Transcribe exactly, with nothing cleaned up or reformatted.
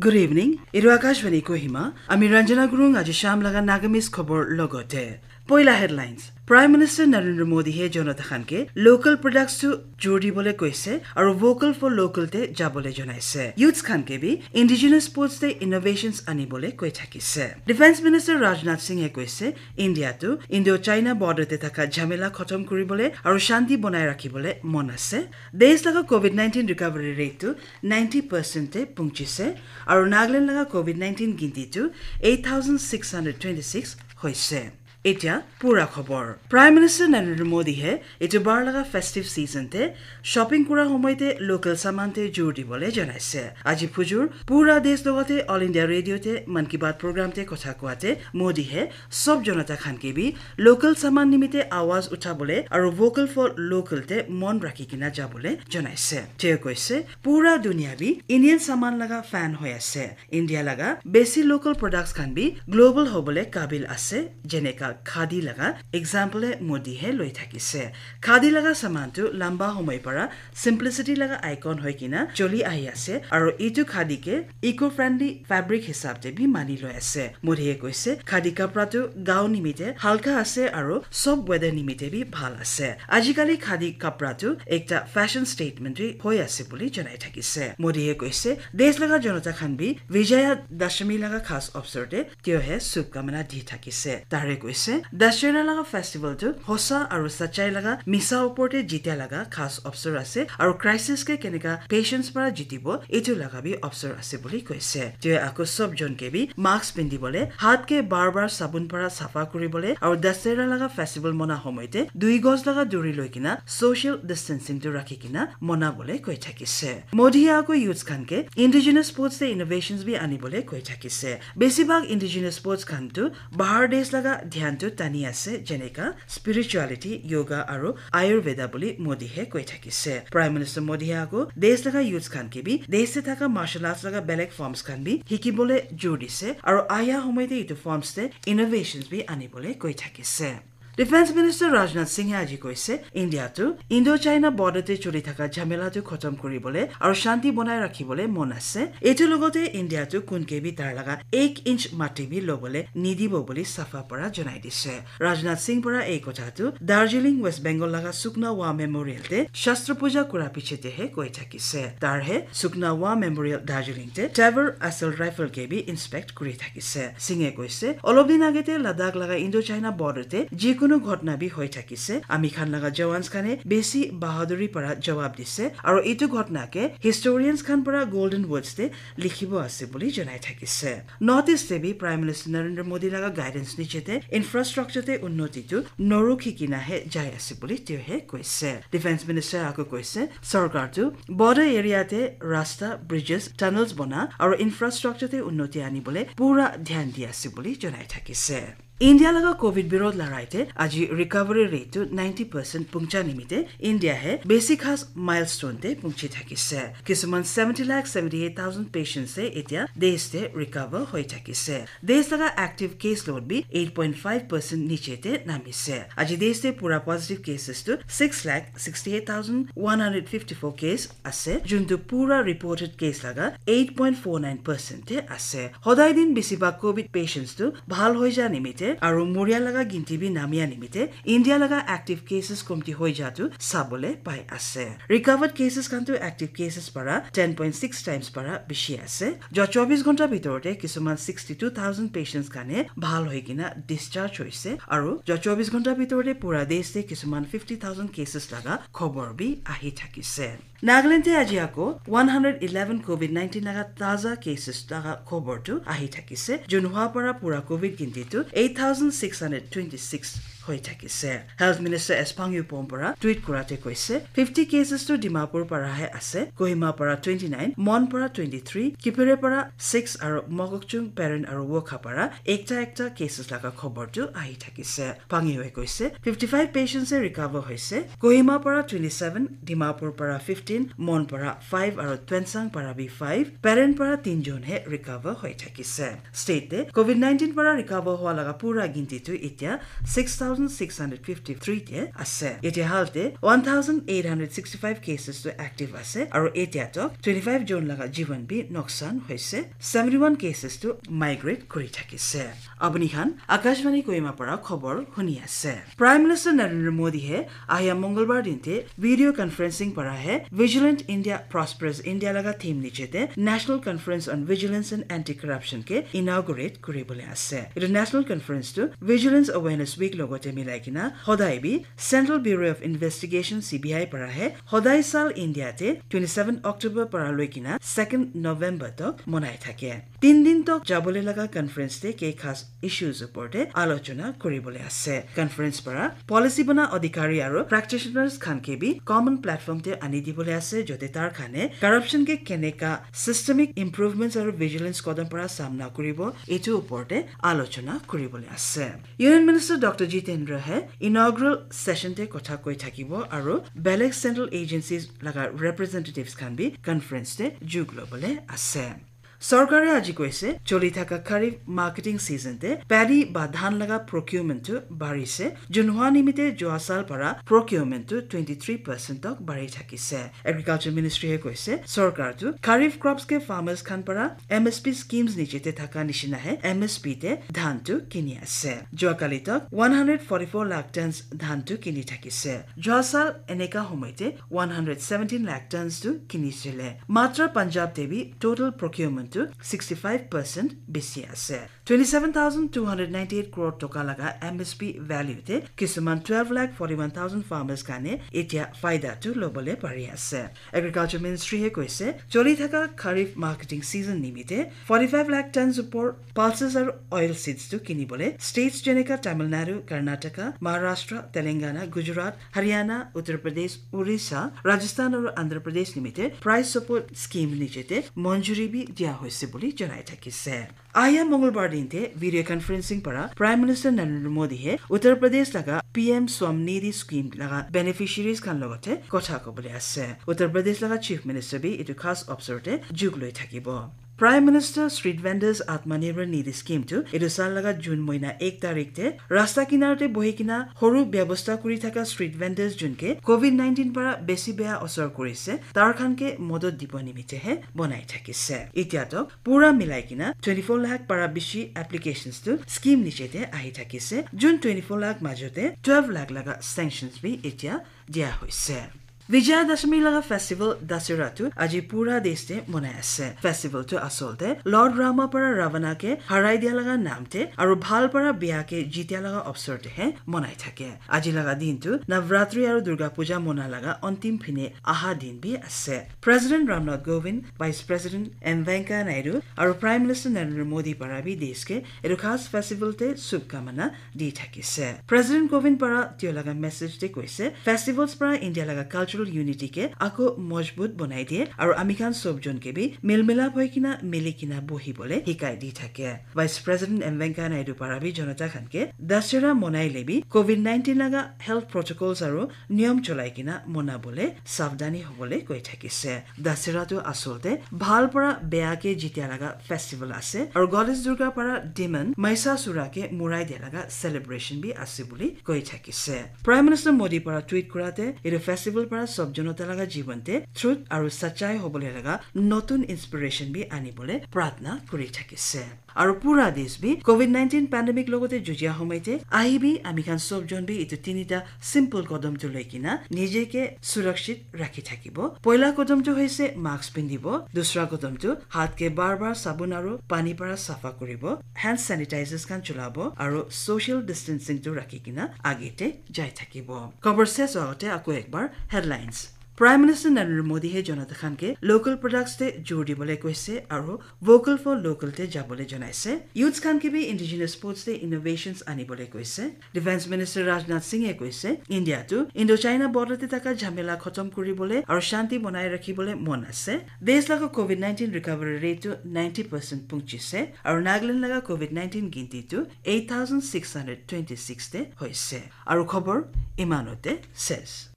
Good evening. Etu Akashvani Kohima. Ami Ranjana Gurung aji sham laga Nagamese khobor logote. Poila headlines. Prime Minister Narendra Modi he jonata khan ke local products to jur dibole koise aru vocal for local te jabole janaise. Youths khan ke bi indigenous sports te innovations anibole koi thakise. Defense Minister Rajnath Singh he koise India tu Indo-China border te thaka jhamela khotom kuribole aru shanti bonai rakhibole mon ase. Desh laga covid nineteen recovery rate tu ninety percent te punchise aru Nagaland laga covid nineteen ginti tu eight thousand six hundred twenty-six hoise. Etia pura khobor. Prime Minister Narendra Modi he etu bar laga festive season te shopping kura homoy te local saman te jur dibole janaise. Aji phujur pura desh logote All India Radio te Mann Ki Baat program te kotha koate Modi he sob jonata khan ke bi local saman nimite awaz uthabole aru vocal for local te mon rakhi kina jabole janaise. Te koise pura dunia bi Indian saman laga fan hoi ase. India laga besi local products khan bi global hobole kabil ase, jeneka khadi laga example e Modi he loi thakise. Khadi laga saman tu lamba homoy para simplicity laga icon hoi kina choli ahi ase, aru itu khadi ke eco-friendly fabric hisab te bi mani loi ase. Modi he koise khadi kapra tu gao nimite halka ase aru sob weather nimite bi bhal ase. Ajikali khadi kapra tu ekta fashion statement bi hoi ase buli janai thakise. Modi he koise desh laga jonata khan bi Vijaya Dashami laga khas opsor te tio he shubkamana di thakise. Tare koise Dashera laga festival tu hosa aru sachai laga misa opor te jitia laga khas opsor ase aru crisis ke keneka patience para jitibo etu laga bi opsor ase buli koise. Tio ako sob jon ke bi mask pindibole, hat ke bar bar sabun para safa kuribole aru Dashera laga festival mona homoy te dui gos laga duri loi kina social distancing tu rakhi kina mona bole koi thakise. Modi he ako youths khan ke indigenous sports te innovations bi anibole koi thakise. Besibhag indigenous sports khan tu bahar desh laga dhyan tu tani ase, jeneka spirituality, yoga aru Ayurveda buli Modi he koi thakise. Prime Minister Modi he ako desh laga youths khan ke bi desh te thaka martial arts laga belek forms khan bi hikibole jur dise aru aya homoy te itu forms te innovations bi anibole koi thakise. Defense Minister Rajnath Singh e aji koise India tu Indo-China border te choli thaka jhamela tu khotom kuribole aru shanti bonai rakhibole mon ase. Etu logote India tu kun ke bi tar laga ek inch mati bi lobole nidibo buli safa para janai dise. Rajnath Singh para ei kotha tu Darjeeling, West Bengal laga Sukna War Memorial te Shastra Puja kura piche te he koi thakise. Tar he Sukna War Memorial Darjeeling te Tavor Assault Rifle ke bi inspect kuri thakise. Singh e koise olop din age te Ladakh laga Indo-China border te jikunu ghotna bi hoi thakise. Ami khan laga jawans khan e besi bahaduri para jawab dise aru itu ghotna ke historians khan para Golden Words te likhibo ase buli janai thakise. North East te bi Prime Minister Narendra Modi laga guidance niche te infrastructure te unnoti tu norukhi kina he jai ase buli tio he koise. Defense Minister ako koise sorkar tu border area te rasta, bridges, tunnels bona aru infrastructure te unnoti anibole pura dhyan di ase buli janai thakise. India laga covid birod larai te aji recovery rate tu ninety percent puncha nimite India he besi khas milestone te punchi thakise. Kisuman seventy lakh seventy eight thousand patients se etia desh te recover hoi thakise. Desh laga active case load bi eight point five percent niche te namise. Aji desh te pura positive cases tu six lakh sixty eight thousand one hundred fifty four case ase, juntu pura reported case laga eight point four nine percent te ase. Hodai din besibhag covid patients tu bhal hoi ja nimite aru muria laga ginti bi namia nimite India laga active cases komti hoi ja tu sabole pai ase. Recovered cases khan tu active cases para ten point six times para bishi ase. Jo chobis ghonta bitor te kisuman sixty two thousand patients khan e bhal hoi kina discharge hoise aru jo chobis ghonta bitor te pura desh te kisuman fifty thousand cases laga khobor bi ahi thakise. Nagaland te aji ako one hundred eleven covid nineteen laga taza cases laga khobor tu ahi thakise. Jun hua para pura covid ginti tu eight thousand six hundred twenty six hoi thakise. Health Minister S Pang Yupom para tweet kurate koise fifty cases tu Dimapur para he ase, Kohima para twenty nine, Mon para twenty three, Kipire para six aru Mokokchung, Peren aru Wokha para ekta ekta cases laga khobor tu ahi thakise. Pang Yue koise fifty five patients e recover hoise, Kohima para twenty seven, Dimapur para fifteen, Mon para five aru Tuensang para bi five, Peren para tinjon he recover hoi thakise. State te covid nineteen para recover hua laga pura ginti tu etia six thousand six hundred fifty-three te ase. Etia hal te one thousand eight hundred sixty-five cases to active ase, aru etia to twenty-five jon laga jivan bi noksan hoise, seventy-one cases to migrate kuri thakise. Apuni khan Akashvani Kohima para khobor huni ase. Prime Minister Narendra Modi he ahia Mongolbar din te video conferencing para he Vigilant India, Prosperous India laga theme niche te National Conference on Vigilance and Anti-Corruption ke inaugurate kuribole ase. Etu National Conference tu Vigilance Awareness Week logote milai kina hodai bi Central Bureau of Investigation, C B I para he hodai sal India te twenty-seven October para loi kina second November tok monai thake. Tin din tok jabole laga conference te kei khas issues upor te alochona kuribole ase. Conference para policy bana adhikari aru practitioners khan ke bi common platform te ani dibole ase, jote tar khane corruption ke keneka systemic improvements aru vigilance kodam para samna kuribo, etu upor te alochona kuribole ase. Union Minister Doctor Jitendra he inaugural session te kotha koi thakibo aru belek central agencies laga representatives khan bi conference te jug lobole ase. Sorkare aji koise, choli thaka Kharif marketing season te paddy ba dhan laga procurement tu barise, junhwa nimite joa sal para procurement tu twenty-three percent tok bari thakise. Agriculture Ministry he koise, sorkar tu Kharif crops ke farmers khan para M S P schemes niche te thaka nishina he M S P te dhan tu kini ase. Joa kali tok one hundred forty-four lakh tons dhan tu kini thakise. Joa sal eneka homoite one hundred seventeen lakh tons tu kinisile. Matra Punjab te bi total procurement tu sixty-five percent besi ase. Twenty-seven thousand two hundred ninety-eight crore toka laga M S P value te kisuman twelve lakh forty-one thousand farmers kane etia faida tu lobole pari ase. Agriculture Ministry he koise, choli thaka Kharif marketing season nimite forty-five lakh tons upor pulses aru oil seeds tu kinibole states jeneka Tamil Nadu, Karnataka, Maharashtra, Telangana, Gujarat, Haryana, Uttar Pradesh, Orissa, Rajasthan aru Andhra Pradesh nimite price support scheme niche te monjuri bi dia hoise buli janai thakise. Ahia Mongolbar din te video conferencing para Prime Minister Narendra Modi he Uttar Pradesh laga P M Swamnidhi scheme laga beneficiaries khan logote kotha kobole ase. Uttar Pradesh laga Chief Minister bi etu khas opsor te jug loi thakibo. Prime Minister Street Vendors Atmanirbhar Nidhi Scheme tu etu sal laga June moina ek tarik te rasta kinar te bohi kina horu byabostha kuri thaka street vendors jun ke covid nineteen para besi beya osor kurise, tar khan ke modot dibo nimite he bonai thakise. Itya tok pura milai kina twenty-four lakh para bishi applications tu scheme niche te ahi thakise. Jun twenty-four lakh majote twelve lakh laga sanctions bi itya dia hoise. Vijayadashami laga festival Dasera tu aji pura desh te monai ase. Festival tu asol te Lord Rama para Ravana ke harai dia laga nam te aru bhal para beya ke jitya laga opsor te he monai thake. Aji laga din tu Navratri aru Durga Puja mona laga antim phine aha din bi ase. President Ramnath Kovind, Vice President M Venkaiah Naidu aru Prime Minister Narendra Modi para bi desh ke etu khas festival te shubkamana di thakise. President Kovind para tio laga message te koise, festivals para India laga cultural unity ke ako mojbut bonai diye aru ami khan sob jon ke bi milmilap hoi kina mili kina bohi bole hikai di thake. Vice President M Venkaiah Naidu para bi jonata khan ke Dasera monai le bi covid nineteen laga health protocols aru niyom cholai kina mona bole savdani hobole koi thakise. Dasera tu asol te bhal para beya ke jitya laga festival ase aru goddess Durga para demon Mahishasura ke murai dia laga celebration bi ase buli koi thakise. Prime Minister Modi para tweet kura te etu festival para sob jonata laga jiban te truth aru sachai hobole laga notun inspiration bi ani bole pratna kuri thakise. Aru pura desh bi covid nineteen pandemic logote jujia homai te ahi bi ami khan sob jon bi etu tinita simple kodom tu loi kina nije ke surakshit rakhi thakibo. Poila kodom tu hoise mask pindibo, dusra kodom tu hat ke bar bar sabun aru pani para safa kuribo, hand sanitizers khan chulabo aru social distancing tu rakhi kina age te jai thakibo. Khobor ses hote ako ekbar headlines. Prime Minister Narendra Modi he jonata khan ke local products te jor dibole koise aru vocal for local te jabole janaise. Youths khan ke bi indigenous sports te innovations anibole koise. Defense Minister Rajnath Singh e koise India tu Indo-China border te taka jhamela khotom kuribole aru shanti bonai rakhibole mon ase. Desh laga covid nineteen recovery rate tu ninety percent punchise aru Nagaland laga covid nineteen ginti tu eight thousand six hundred twenty-six te hoise. Aru khobor imanote ses.